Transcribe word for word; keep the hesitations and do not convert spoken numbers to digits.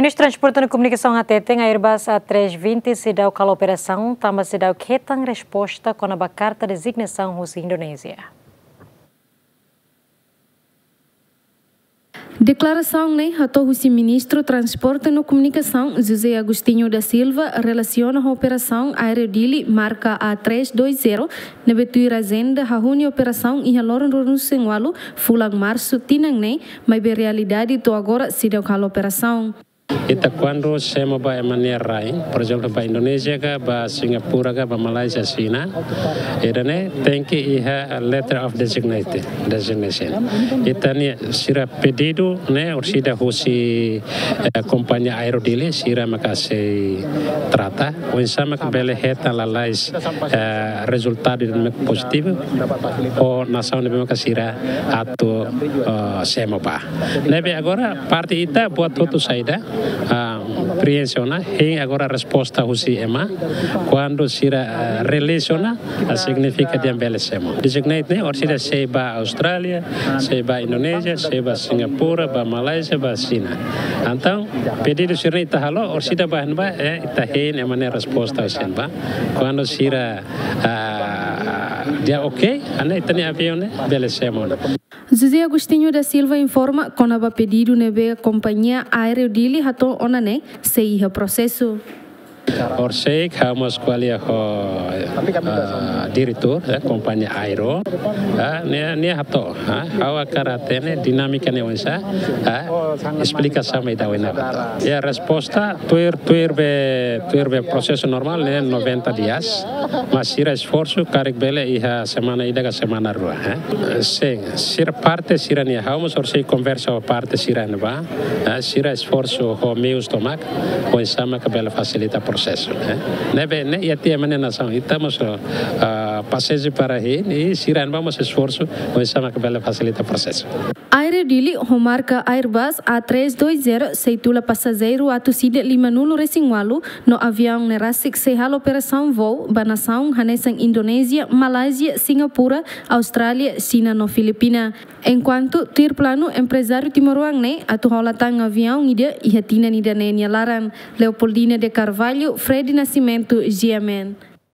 Ministru Transporte no Komunikasaun hateten Airbus A três vinte seidauk halo operasaun tanba seidauk hetan resposta kona-ba karta dezignasaun husi Indonézia. Deklarasaun ne'e hato'o husi Ministru Transporte no Komunikasaun, José Agostinho da Silva, relasiona ho operasaun aéreu Dili marka A três dois zero, ne'ebé tuir ajenda hahú nia operasaun iha loron ruanulu-resin-ualu, fulan Marsu tinan ne'e, maibé realidade to'o agora seidauk halo operasaun. Ita kuandu semo ba ema nia rain, por ezemplu, ba Indonézia ka, ba Singapura ka, ba Malázia, Xina, ida-ne'e tenke iha letter of designate, designation. Ita-nia sira pedidu ne'e orsida husi, eh, kompañia aéreu Dili, sira maka sei trata, oinsá maka bele hetan lalais, eh, rezultadu ida-ne'ebé pozitivu, ho nasaun ne'ebé maka sira atu, eh, semo ba. Ne'ebé agora parte ita buat hotu saida, ah, preenxe ona, hein agora resposta husi ema. Kuandu sira, ah, release ona, ah, signifika dehan bele semo. Designate ne'e, orsida sei ba Austrália, sei ba Indonézia, sei ba Singapura, ba Malázia, ba Xina. Entaun, pedidu sira-ne'e ita halo, orsida ba ne'ebá, eh, ita hein ema nia resposta husi ne'ebá. Kuandu sira, ah, dehan oke, hanesan ita-nia aviaun ne'e bele semo ona. José Agostinho da Silva informa kona-ba pedidu ne'ebé kompañia aéreu Dili hato'o ona ne'e sei iha prosesu. Orsida ha'u mós ko'alia ho, ah, diretór, eh, kompañia aéreu. Ah, nia, nia hato'o, ah, ha'u hakarak hatene dinámika ne'e oinsá, ah, esplikasaun mai daudaun ne'e hato'o. Ya, resposta, tuir, tuir be, tuir be prosesu normál ne'e noventa dias, mas sira esforsu karik bele iha semana ida ka semana rua, eh. Sin, sira parte sira-nia, ha'u mós orsida konversa ho parte sira ne'ebá, eh, sira esforsu ho meius tomak, oinsá maka bele fasilita prosesu, eh. Ne'ebé, ne'e iha tiha ema nia nasaun, ita mós, ah, pasiénsia para hein, i sira ne'ebá mós esforsu, oinsá maka bele fasilita prosesu. Aéreu Dili ho marka Airbus A três dois zero sei tula pasajeiru atus ida limanulu-resin-ualu no aviaun ne'e rasik sei halo operasaun voo ba nasaun hanesan Indonézia, Malázia, Singapura, Austrália, Xina no Filipina. Enkuantu tuir planu emprezáriu timoroan ne'e atu hola tan aviaun ida iha tinan ida-ne'e nia laran. Leopoldina de Carvalho, Fred Nascimento, G M N.